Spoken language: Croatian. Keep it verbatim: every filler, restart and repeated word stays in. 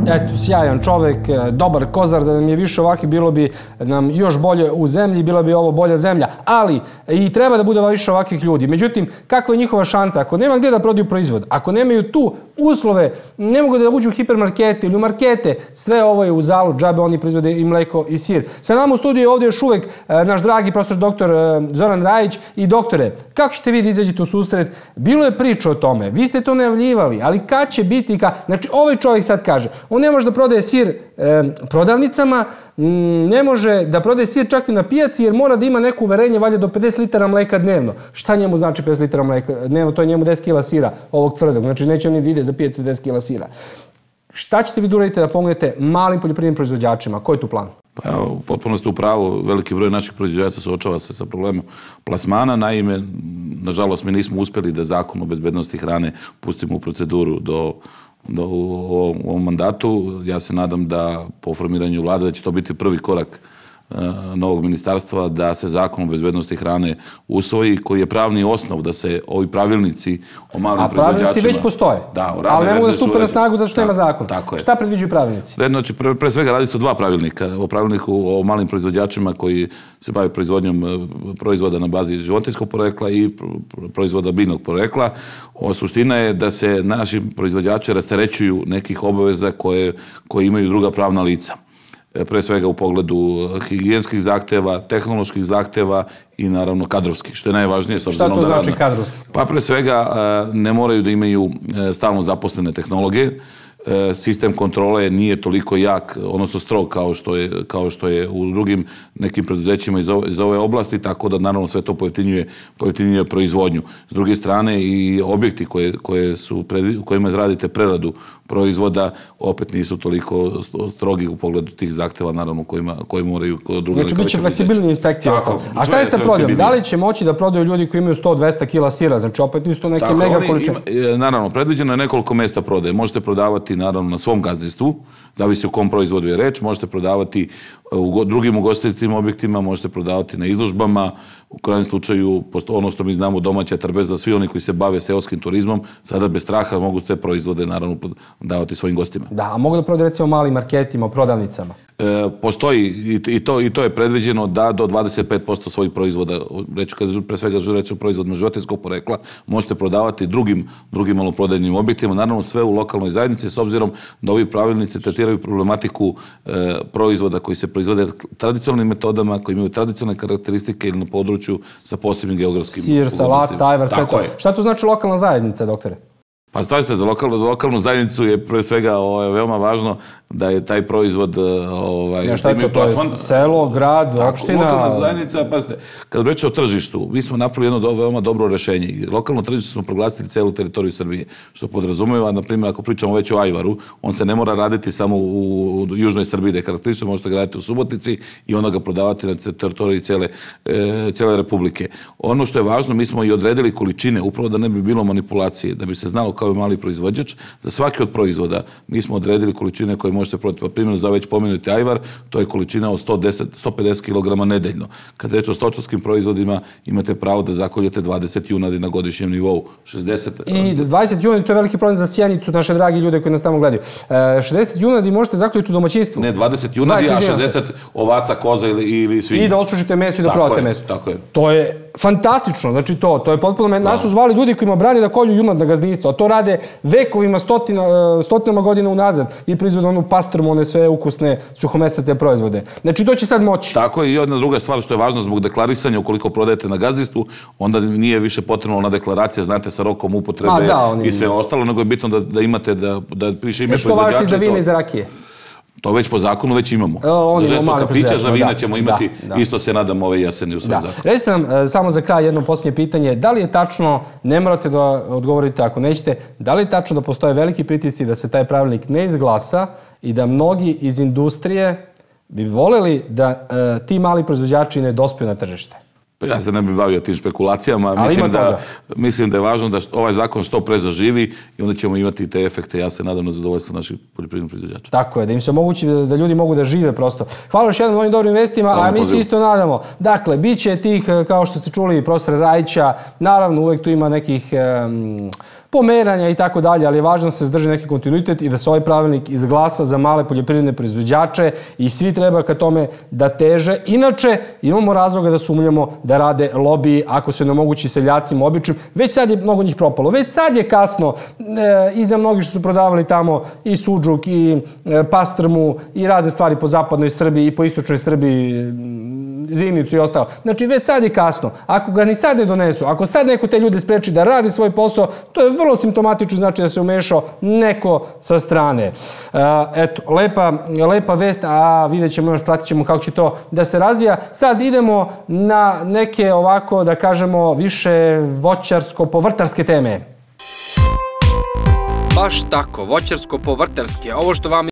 Eto, sjajan čovek, dobar kozar, da nam je više ovakvi, bilo bi nam još bolje u zemlji, bila bi ovo bolja zemlja. Ali i treba da bude više ovakvih ljudi. Međutim, kakva je njihova šansa? Ako nema gdje da prodaju proizvod, ako nemaju tu uslove, ne mogu da uđu u hipermarkete ili u markete, sve ovo je u zalu, džabe, oni proizvode i mleko i sir. Sa nama u studiju je ovdje još uvek naš dragi profesor doktor Zoran Rajić. I doktore, kako ćete vi da izađete u susret? Bilo je priča o tome, vi ste to najavljivali, ali kad će biti, znači ovaj čovjek sad kaže, on ne može da prodaje sir prodavnicama, ne može da prodaje sir čak i na pijaci jer mora da ima neko uverenje valjda do pedeset litara mleka dnevno. Šta njemu znači pedeset litara mleka dnevno? To je njemu deset kila sira ovog tvrdog. Znači neće on ni da ide za pijac deset kila sira. Šta ćete vi da uradite da pomognete malim poljoprivrednim proizvođačima? Koji je tu plan? Pa evo, potpuno ste u pravu, veliki broj naših proizvođača suočava se sa problemom plasmana. Naime, nažalost, mi nismo uspjeli da zakon o bezbednosti hrane pustimo u proceduru do Do, u ovom mandatu. Ja se nadam da po formiranju vlade da će to biti prvi korak e, novog ministarstva, da se zakon o bezbednosti hrane usvoji, koji je pravni osnov da se ovi pravilnici o malim proizvođačima... A pravilnici već postoje, da, ali ne mogu da stupe na snagu zato što nema zakon. Šta predviđaju pravilnici? Znači, pre, pre svega radi se o dva pravilnika. O pravilniku o malim proizvođačima koji se bave proizvodnjom proizvoda na bazi životinjskog porekla i proizvoda biljnog porekla. O, suština je da se naši proizvođači rasterećuju nekih obaveza koje, koje imaju druga pravna lica. Pre svega u pogledu higijenskih zahteva, tehnoloških zahteva i naravno kadrovskih, što je najvažnije. Šta to znači kadrovski? Pa pre svega ne moraju da imaju stalno zaposlene tehnologije. Sistem kontrole nije toliko jak, odnosno strog kao što je, kao što je u drugim nekim preduzećima iz ove, iz ove oblasti, tako da naravno sve to pojeftinjuje, pojeftinjuje proizvodnju. S druge strane i objekti koje, koje su predvi, u kojima radite preradu proizvoda opet nisu toliko strogi u pogledu tih zahteva, naravno, kojima, koji moraju kod druga... Znači, bit će fleksibilnije inspekcije ostalo. A šta je sa prodajom? Da li će moći da prodaju ljudi koji imaju sto do dvesta kila sira? Znači, opet nisu to neke tako, mega količine. Naravno, predviđeno je nekoliko mesta prodaje. Možete prodavati, naravno, na svom gazdinstvu, zavisi u kom proizvodu je reč, možete prodavati u drugim ugostiteljskim objektima, možete prodavati na izložbama, u krajnjem slučaju, ono što mi znamo, domaća trpeza, svi oni koji se bave seoskim turizmom, sada bez straha mogu te proizvode, naravno, davati svojim gostima. Da, a mogu da prodaju, recimo, malim marketima, prodavnicama? E, postoji i, i, to, i to je predviđeno da do dvadeset pet posto svojih proizvoda, reći, kad pre svega reći o proizvodima životinjskog porekla, možete prodavati drugim, drugim maloprodajnim objektima, naravno sve u lokalnoj zajednici, s obzirom da ovi pravilnici tretiraju problematiku e, proizvoda koji se proizvode tradicionalnim metodama, koji imaju tradicionalne karakteristike ili na području sa posebnim geografskim... Sir, salat, tajvar, sve to. Šta to znači lokalna zajednica, doktore? Pa stavite, za lokalnu, za lokalnu zajednicu je pre svega o, veoma važno da je taj proizvod... Ovaj, ja, šta je to? To je selo, grad, tako, opština... Lokalna zajednica, pazite, kad reče o tržištu, mi smo napravili jedno do, veoma dobro rešenje. Lokalno tržište smo proglasili celu teritoriju Srbije, što podrazumeva, na primjer, ako pričamo već o ajvaru, on se ne mora raditi samo u, u južnoj Srbiji, da je karakteristično, možete ga raditi u Subotici i onda ga prodavati na teritoriji cele, e, cele Republike. Ono što je važno, mi smo i odredili količine, upravo da ne bi bilo manipulacije, da bi se znalo kao mali proizvođač. Za svaki od proizvoda mi smo odredili količine koje možete prodati. Pa primjer, za već pomenuti ajvar, to je količina od sto deset do sto pedeset kilograma nedeljno. Kad reč o stočarskim proizvodima, imate pravo da zakoljete dvadeset junadi na godišnjem nivou. šezdeset... I dvadeset junadi, to je veliki problem za Sjenicu, naše dragi ljude koji nas tamo gledaju. šezdeset junadi možete zakoljiti u domaćinstvu. Ne, dvadeset junadi, a šezdeset ovaca, koza ili, ili svinja. I da osušite meso i da prodate meso. Tako je. To je fantastično, znači to, to je potpuno... Nas su zvali ljudi kojima brani da kolju junad na gazdinstvo, a to rade vekovima, stotina, stotinama godina unazad i proizvode onu pastrmu, one sve ukusne, suhomesnate proizvode. Znači, to će sad moći. Tako je, i jedna druga stvar što je važno zbog deklarisanja, ukoliko prodajete na gazdinstvu, onda nije više potrebno ona deklaracija, znate, sa rokom upotrebe A, da, oni... i sve ostalo, nego je bitno da, da imate, da, da piše ime proizvođača. Što važiti za vine i za rakije? To već po zakonu već imamo. O, za žestoka pića, za vina da, ćemo imati, da, da. Isto se nadam ove jeseni u svoj zakonu. Recite nam, samo za kraj jedno posljednje pitanje, da li je tačno, ne morate da odgovorite ako nećete, da li je tačno da postoje veliki pritisci da se taj pravilnik ne izglasa i da mnogi iz industrije bi voljeli da e, ti mali proizvođači ne dospiju na tržište? Ja se ne bih bavio tim špekulacijama. Mislim da, mislim da je važno da ovaj zakon što pre zaživi i onda ćemo imati te efekte. Ja se nadam na zadovoljstvo naših poljoprivrednih proizvođača. Tako je, da im se omogući da, da ljudi mogu da žive prosto. Hvala još jednom ovim dobrim vestima, a mi se isto nadamo. Dakle, bit će tih, kao što ste čuli, profesora Rajića, naravno uvek tu ima nekih... Um, pomeranja i tako dalje, ali je važno da se zadrži neki kontinuitet i da se ovaj pravilnik izglasa za male poljoprivredne proizvođače i svi treba ka tome da teže. Inače, imamo razloga da sumnjamo da rade lobiji ako se ne omogući seljacima običnim. Već sad je mnogo njih propalo. Već sad je kasno e, i za mnogi što su prodavali tamo i suđuk i e, pastrmu i razne stvari po zapadnoj Srbiji i po istočnoj Srbiji, zimnicu i ostalo. Znači, već sad je kasno. Ako ga ni sad ne donesu, ako sad neko te ljude spreči da radi svoj posao, to je vrlo simptomatično, znači da se umešao neko sa strane. E, eto, lepa, lepa vest, a vidjet ćemo još, pratit ćemo kako će to da se razvija. Sad idemo na neke ovako, da kažemo, više voćarsko-povrtarske teme. Baš tako, voćarsko-povrtarske. Ovo što vam